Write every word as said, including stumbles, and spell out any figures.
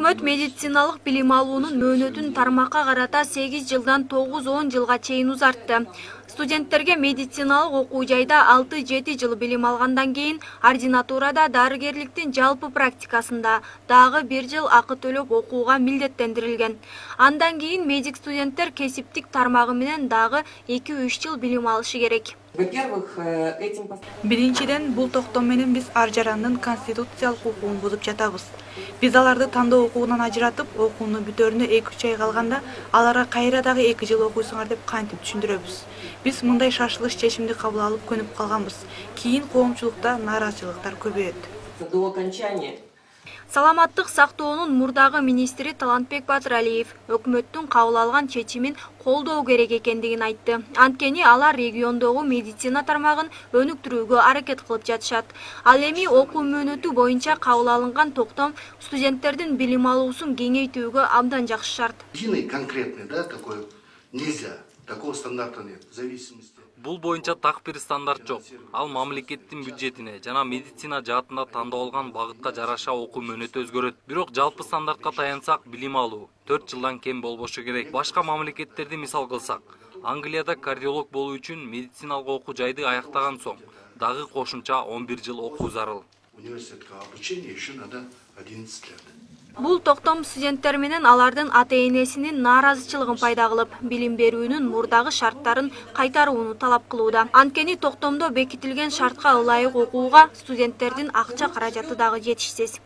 Өкмөт медициналык билим алуунун мөөнөтүн тармакка карата сегиз жылдан тогуз он жылга чейин узартты. Студенттерге медициналык окуу жайда алты жети жыл билим алгандан кийин ординатурада дарыгерликтин жалпы практикасында дагы бир жыл акы төлөп окууга милдеттендирилген. Андан кийин медик студенттер кесиптик тармагы менен дагы эки үч жыл билим алышы керек. Биринчиден, бул токтом менен биз ар жарандын конституциялык укугун бузуп жатабыз. Биз аларды тандоо окуунан ажыратып, окууну бүтөрүнө эки үч ай калганда аларга кайра дагы эки жыл окуйсуңар деп кантип түшүндүрөбүз. Биз мындай шашылыш чечимди кабыл алып көнүп калганбыз. Кийин коомчулукта нааразычылыктар көбөйөт. Саламаттык сактоонун мурдагы министри Талантбек Батыралиев өкмөттүн кабыл алган чечимин колдоо керек экендигин айтты. Анткени алар региондогу медицина тармагын өнүктүрүүгө аракет кылып жатышат. Ал эми окуу мөөнөтү боюнча кабыл алынган токтом студенттердин билим алуусун кеңейтүүгө абдан жакшы шарт. Конкретный, да, такой нельзя. Такого стандарта нет. В зависимости. Бул боюнча так бир стандарт жок. Ал мамлекеттин бюджетине жана медицина жаатында тандалган багытка жараша окуу мөөнөтү өзгөрөт. Бирок жалпы стандартка таянсак, билим алуу төрт жылдан кем болбошу керек. Башка мамлекеттерди мисал кылсак, Англияда кардиолог болуу үчүн медициналык окуу жайды аяктаган соң дагы кошумча он бир жыл окуу зарыл. Университетке обучение еще надо одиннадцать лет. Бул токтом студенттер менен алардын ата-энесинин нааразычылыгын пайда кылып, билим берүүнүн мурдагы шарттарын кайтарууну талап кылууда. Анткени токтомдо бекитилген шартка ылайык окууга студенттердин акча каражаты дагы жетишсиз.